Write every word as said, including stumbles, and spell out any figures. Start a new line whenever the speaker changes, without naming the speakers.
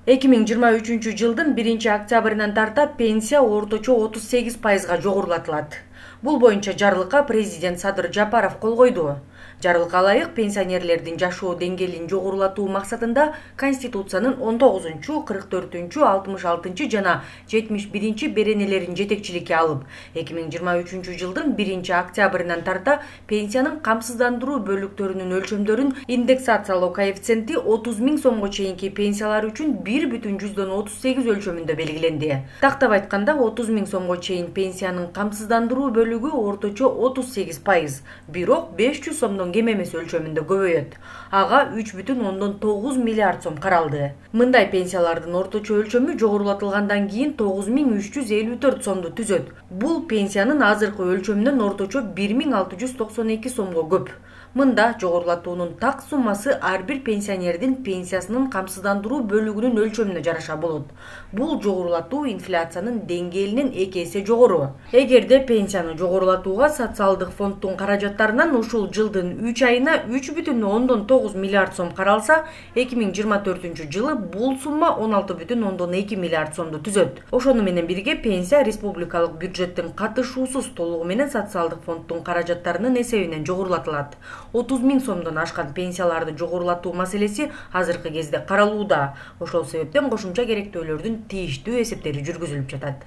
эки миң жыйырма үчүнчү жылдын биринчи октябрынан тарта пенсия орточо отуз сегиз пайызга жогорулатылат. Бул боюнча жарлыкка президент Садыр Жапаров кол койду. Жарлыкка ылайык пенсионерлердин жашоо деңгээлин жогорулатуу максатында Конституциянын он тогузунчу, кырк төртүнчү, алтымыш алтынчы жана жетимиш биринчи беренелерин жетекчиликке алып, эки миң жыйырма үчүнчү жылдын биринчи октябрынан тарта пенсиянын камсыздандыруу бөлүктөрүнүн өлчөмдөрүн индексациялоо коэффициенти отуз миң сомго чейинки пенсиялар үчүн бир бүтүн жүздөн отуз сегиз өлчөмүндө белгиленди. Тактап айтканда отуз миң сомго чейин пенсиянын камсыздандыруу бөлүгү орточо отуз сегиз пайыз, бирок беш жүз сомдон кем эмес өлчөмүндө көбөйөт. Ага үч бүтүн ондон тогуз миллиард сом каралды. Мындай пенсиялардын орточо өлчөмү жогорулатылгандан кийин тогуз миң үч жүз элүү төрт сомду түзөт. Бул пенсиянын азыркы өлчөмүнөн орточо бир миң алты жүз токсон эки сомго көп. Мында жогорулатуунун так суммасы ар бир пенсионердин пенсиясынын камсыздандыруу бөлүгүнүн өлчөмүнө жараша болот. Бул жогорулатуу инфляциянын деңгээлинен эки эсе жогору. Эгерде пенсияны жогорулатууга социалдык фонддун каражаттарынан ушул жылдын үч айына үч бүтүн ондон тогуз миллиард сом каралса, эки миң жыйырма төртүнчү жылы бул сумма он алты бүтүн ондон эки миллиард сомду түзөт. Ошону менен бирге пенсия республикалык бюджеттин катышуусуз толугу менен социалдык фонддун каражаттарынын эсебинен жогорулатылат. отуз миң сомдон ашкан пенсияларды жогорулатуу маселеси азыркы кезде каралууда. Ошол себептен кошумча керектөөлөрдүн тийиштүү эсептери жүргүзүлүп жатат.